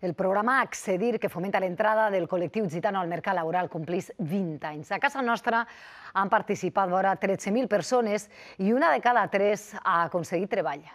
El programa Accedir, que fomenta l'entrada del col·lectiu gitano al mercat laboral, complís 20 anys. A casa nostra han participat vora 13.000 persones i una de cada tres ha aconseguit treball.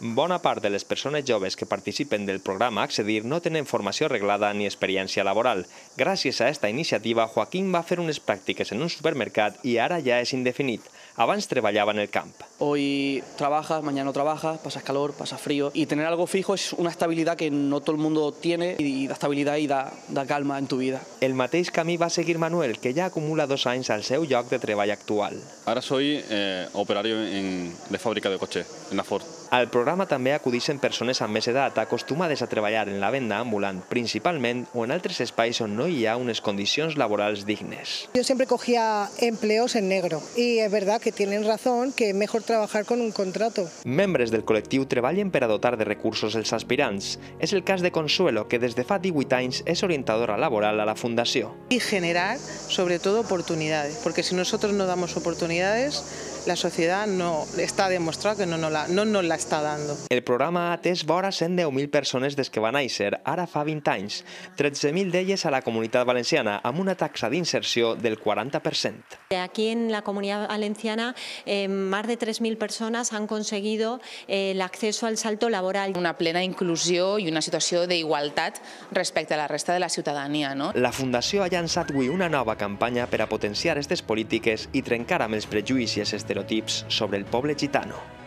Bona part de les persones joves que participen del programa Accedir no tenen formació reglada ni experiència laboral. Gràcies a aquesta iniciativa, Joaquín va fer unes pràctiques en un supermercat i ara ja és indefinit. Abans treballava en el camp. Hoy trabajas, mañana no trabajas, pasas calor, pasas frío. Y tener algo fijo es una estabilidad que no todo el mundo tiene y da estabilidad y da calma en tu vida. El mateix camí va seguir Manuel, que ja acumula 2 anys al seu lloc de treball actual. Ahora soy operario de fábrica de coche, en la Ford. Al programa també acudeixen persones amb més edat acostumades a treballar en la venda ambulant, principalment o en altres espais on no hi ha unes condicions laborals dignes. Yo siempre cogía empleos en negro y es verdad que tienen razón que es mejor trabajar con un contrato. Membres del col·lectiu treballen per a dotar de recursos els aspirants. És el cas de Consuelo, que des de fa 18 anys és orientadora laboral a la Fundació. Y generar, sobre todo, oportunidades, porque si nosotros no damos oportunidades, la sociedad no está demostrado que no nos la está dando. El programa ha atès vora 110.000 persones des que va néixer, ara fa 20 anys, 13.000 d'elles a la Comunitat Valenciana, amb una taxa d'inserció del 40%. Aquí en la Comunidad Valenciana, más de 3.000 personas han conseguido el acceso al salto laboral. Una plena inclusió i una situació d'igualtat respecte a la resta de la ciutadania. La Fundació ha llançat avui una nova campanya per a potenciar aquestes polítiques i trencar amb els prejudicis i estereotips sobre el poble gitano.